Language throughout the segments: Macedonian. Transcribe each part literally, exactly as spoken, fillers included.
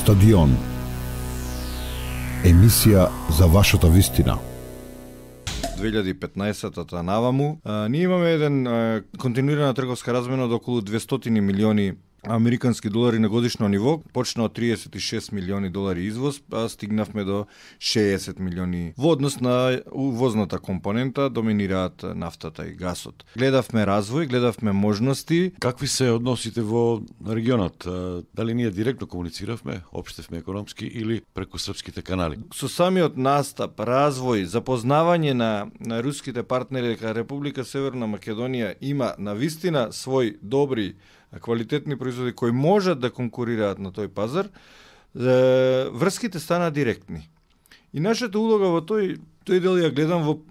Стадион. Емисија за вашата вистина. две илјади и петнаесетата наваму, а, ние имаме еден а, континуирана трговска размена од околу двестоти милиони американски долари на годишно ниво, почна од триесет и шест милиони долари извоз, а стигнавме до шеесет милиони. Во однос на увозната компонента доминираат нафтата и гасот. Гледавме развој, гледавме можности. Какви се односите во регионот? Дали ние директно комунициравме, општевме економски или преку српските канали? Со самиот настап, развој, запознавање на, на руските партнери дека Република Северна Македонија има навистина свој добри квалитетни производи кои можат да конкурираат на тој пазар, врските стана директни. И нашата улога во тој, тој дел ја гледам во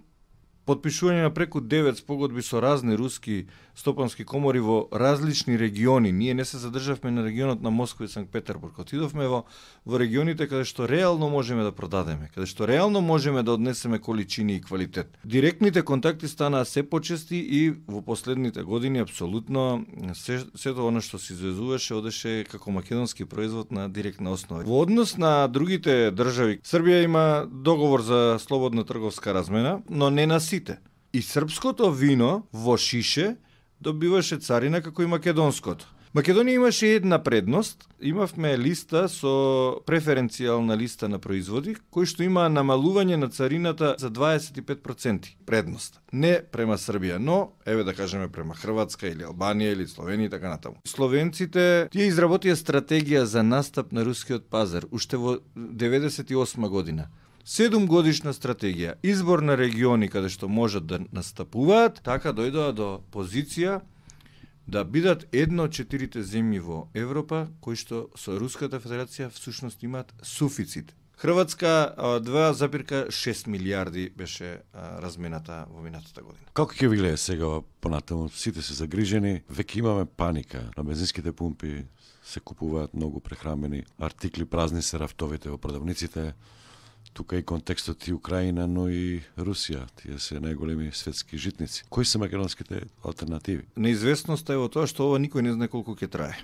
потпишување на преку девет спогодби со разни руски стопански комори во различни региони. Ние не се задржавме на регионот на Москва и Санкт Петербург. Отидовме во, во регионите каде што реално можеме да продадеме, каде што реално можеме да однесеме количини и квалитет. Директните контакти станаа се почести и во последните години апсолутно се, сето оно што се извезуваше одеше како македонски производ на директна основа. Во однос на другите држави, Србија има договор за слободна трговска размена, но не на сите. И српското вино во шише добиваше царина како и македонското. Македонија имаше една предност, имавме листа со преференцијална листа на производи, кој што има намалување на царината за дваесет и пет проценти предност. Не према Србија, но, еве да кажеме, према Хрватска или Албанија или Словенија и така натаму. Словенците, тие изработија стратегија за настап на рускиот пазар, уште во деветдесет и осма година. Седум годишна стратегија, избор на региони каде што можат да настапуваат, така дојдоа до позиција да бидат една од четирите земји во Европа кои што со Руската Федерација всушност имаат суфицит. Хрватска два запирка шест милиарди беше а, размената во минатата година. Како ќе ви гледа сега понатаму? Сите се загрижени, веќе имаме паника. На бензинските пумпи се купуваат многу прехрамбени артикли, празни се рафтовите во продавниците. Тука и контекстот и Украина, но и Русија, тие се најголеми светски житници. Кои се македонските алтернативи? Неизвестноста е во тоа што ова никој не знае колку ќе трае.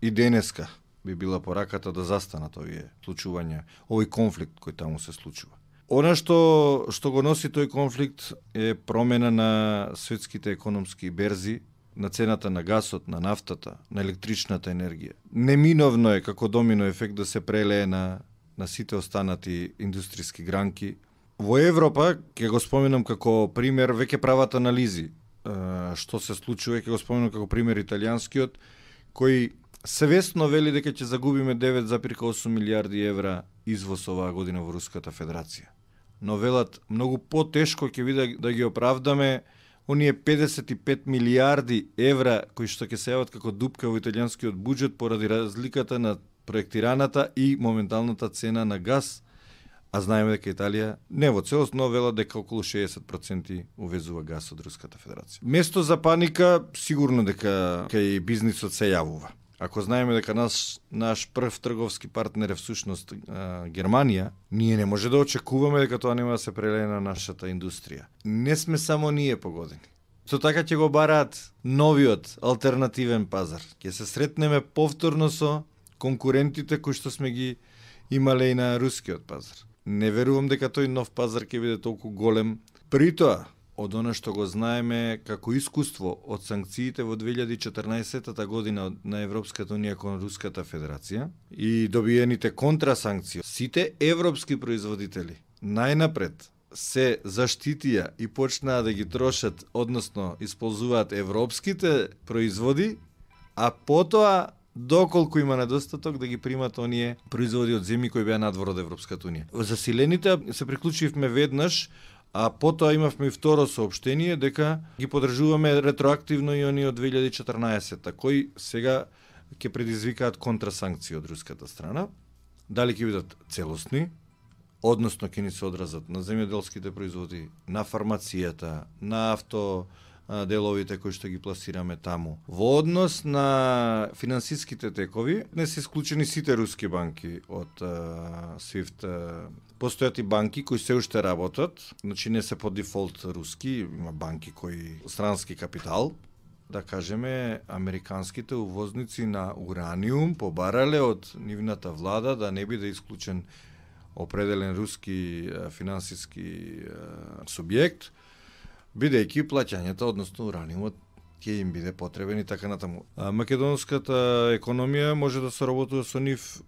И денеска би била пораката да застанат овие случувања, овој конфликт кој таму се случува. Она што што го носи тој конфликт е промена на светските економски берзи, на цената на гасот, на нафтата, на електричната енергија. Неминовно е како домино ефект да се прелее на на сите останати индустријски гранки. Во Европа, ќе го споменам како пример, веќе прават анализи што се случува, ќе го споменам како пример италијанскиот, кој свесно вели дека ќе загубиме девет запирка осум милиарди евра извоз оваа година во Руската Федерација. Но велат, многу потешко ќе биде да ги оправдаме оние педесет и пет милиарди евра кои што ќе се јават како дупка во италијанскиот буџет поради разликата на проектираната и моменталната цена на газ, а знаеме дека Италија не во целост, но вела дека околу шеесет проценти увезува газ од Руската Федерација. Место за паника, сигурно дека кај бизнисот се јавува. Ако знаеме дека наш, наш прв трговски партнер е всушност а, Германија, ние не може да очекуваме дека тоа нема да се прелее на нашата индустрија. Не сме само ние погодени. Со така ќе го бараат новиот алтернативен пазар. Ќе се сретнеме повторно со конкурентите кои што сме ги имале и на рускиот пазар. Не верувам дека тој нов пазар ќе биде толку голем. При тоа, од она што го знаеме како искуство од санкциите во две илјади и четрнаесетата година на Европската унија кон Руската Федерација и добиените контрасанкции, сите европски производители најнапред се заштитија и почнаа да ги трошат, односно исползуваат европските производи, а потоа доколку има недостаток да ги примат оние производи од земји кои беа надвор од Европската унија. Засилените се приклучивме веднаш, а потоа имавме и второ соопштение дека ги подржуваме ретроактивно и оние од две илјади и четрнаесетта, кои сега ќе предизвикаат контрасанкции од руската страна. Дали ќе бидат целосни, односно ќе ни се одразат на земјоделските производи, на фармацијата, на авто деловите кои што ги пласираме таму. Во однос на финансиските текови, не се исклучени сите руски банки од свифт. Постојат и банки кои се уште работат, значи не се по дефолт руски, има банки кои странски капитал, да кажеме, американските увозници на ураниум побарале од нивната влада да не биде исклучен определен руски финансиски субјект, бидејќи плаќањата, односно ураниумот, ќе им биде потребен и така натаму. А македонската економија може да се работува со нив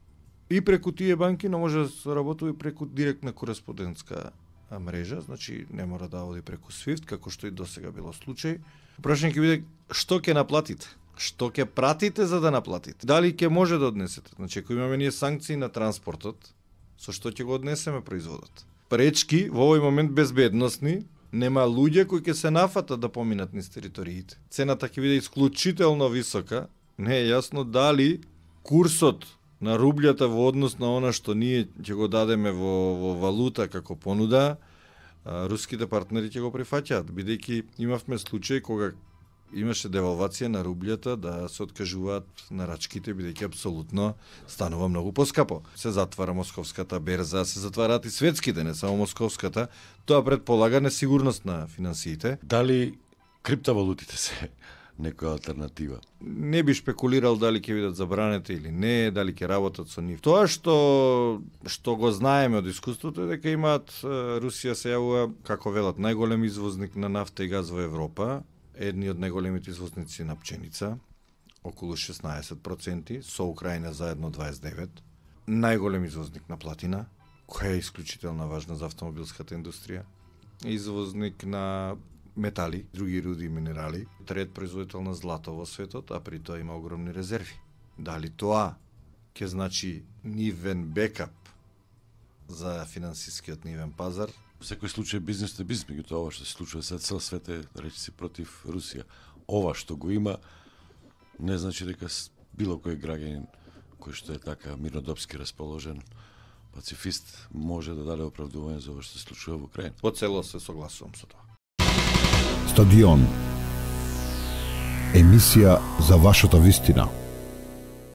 и преку тие банки, но може да се работува и преку директна кореспондентска мрежа, значи не мора да оди преку свифт, како што и досега било случај. Прашање ќе биде што ќе наплатите? Што ќе пратите за да наплатите? Дали ќе може да однесете? Значи, ако имаме ние санкции на транспортот, со што ќе го однесеме производот? Пречки во овој момент безбедносни, нема луѓе кои ќе се нафатат да поминат низ териториите. Цената ќе биде исклучително висока. Не е јасно дали курсот на рублјата во однос на она што ние ќе го дадеме во, во валута како понуда, а, руските партнери ќе го прифаќаат, бидејќи имавме случај кога имаше девалвација на рублјата да се откажуваат нарачките, бидејќи апсолутно станува многу поскапо. Се затвара московската берза, се затвараат и светските, не само московската. Тоа предполага несигурност на финансиите. Дали криптовалутите се некоја алтернатива? Не би шпекулирал дали ќе бидат забранети или не, дали ќе работат со нив. Тоа што што го знаеме од искуството е дека имаат, Русија се јавува како велат најголем извозник на нафта и газ во Европа, едни од најголемите извозници на пченица, околу шеснаесет проценти, со Украина заедно дваесет и девет проценти, најголем извозник на платина, која е исклучително важна за автомобилската индустрија, извозник на метали, други руди и минерали, трет производител на злато во светот, а при тоа има огромни резерви. Дали тоа ќе значи нивен бекап за финансискиот нивен пазар? Во секој случај бизнес е бизнес, меѓутоа ова што се случува сега цел свет е, речи си, против Русија. Ова што го има не значи дека било кој граѓанин кој што е така мирнодопски расположен, пацифист, може да даде оправдување за ова што се случува во Украина. По цело се согласувам со тоа. Стадион. Емисија за вашата вистина.